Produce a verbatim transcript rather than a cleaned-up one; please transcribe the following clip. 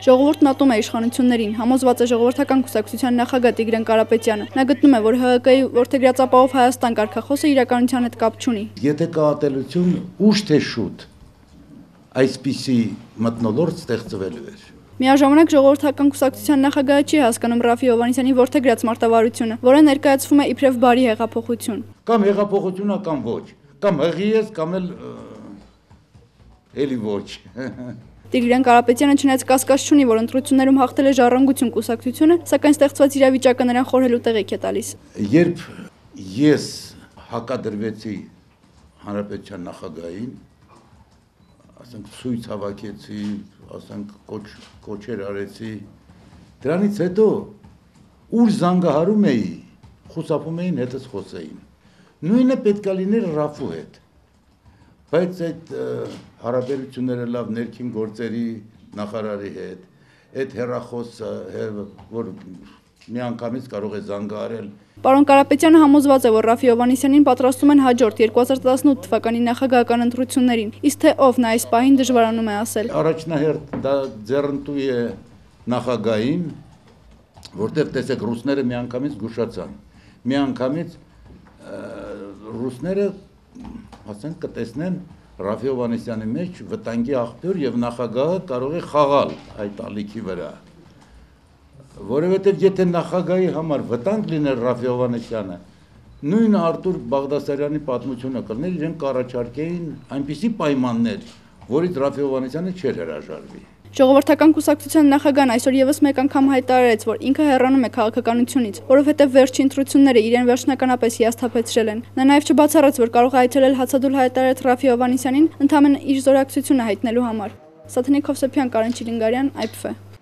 Ժողովուրդն ատում է իշխանություններին, համոզված է ժողովրդական կուսակցության նախագահ Տիգրան Կարապետյանը։ Նա գտնում է, որ ՀՀԿ-ի որդեգրած ապահով Հայաստան կարգախոսը իրականության հետ կապ չունի։ Եթե կա ատելություն, ուշ թե շուտ այսպիսի մթնոլորտ ստեղծվելու էր։ Միաժամանակ ժողովրդական կուսակցության նախագահը չի հասկանում Ռաֆֆի Հովհաննիսյանի որդեգրած մարտավարությունը, որը ներկայացվում է իբրև բարի հեղափոխություն։ Կամ հեղափոխություն է, կամ ոչ, կամ հղի ես, կամ էլ էլի ոչ։ Տիգրան Կարապետյանը չնայած կասկած չունի, որ ընտրություններում հաղթել է Ժառանգություն կուսակցությունը, սակայն ստեղծված իրավիճակը նրան խորհելու տեղիք է տալիս։ Երբ ես հակադրվեցի Հանրապետության նախագահին, ասենք ցույց հավաքեցի, ասենք կոչեր արեցի, դրանից հետո ուր զանգահարում էի, խուսափում էին հետս խոսեին։ Նույնը պետք է լիներ Ռաֆու հետ, բայց այդ հարաբերությունները լավ ներքին գործերի նախարարի հետ, այդ հեռախոսը, որ միանգամից կարող է զանգահարել։ Պարոն Կարապետյանը համոզված է, որ Ռաֆֆի Հովհաննիսյանին պատրաստում են հաջորդ երկու հազար տասնութ թվականի նախագահական ընտրություններին, իսկ թե ով նա այս պահին դժվարանում է ասել։ Առաջնահերթ դա ձեռնտու է նախագահին, որտեղ տեսեք ռուսները միանգամից զգուշացան, միանգամից ռուսները ասենք կտեսնեն Ռաֆֆի Հովհաննիսյանի մեջ վտանգի աղբյուր եւ նախագահը կարող է խաղալ այդ ալիքի վրա։ Որովհետև եթե նախագահի համար վտանգ լիներ Ռաֆֆի Հովհաննիսյանը, նույն Արտուր Բաղդասարյանի պատմությունը կլներ, իրենք կառաջարկեին այնպիսի պայմաններ, որից Ռաֆֆի Հովհաննիսյանը չէր հրաժարվի։ Ժողովրդական կուսակցության նախագահն այսօր եւս մեկ անգամ հայտարարեց, որ ինքը հեռանում է քաղաքականությունից, որովհետև վերջի ընտրությունները իրեն վերջնականապես հիասթափեցրել են։ Նա նաեւ չբացառեց, որ կարող է այցելել հացադուլ հայտարարած Ռաֆֆի Հովհաննիսյանին ընդամենը իր զորակցությունը հայտնելու համար։ Սաթենիկ Հովսեփյան, Կարեն Չիլինգարյան, Այ Փ Ֆ։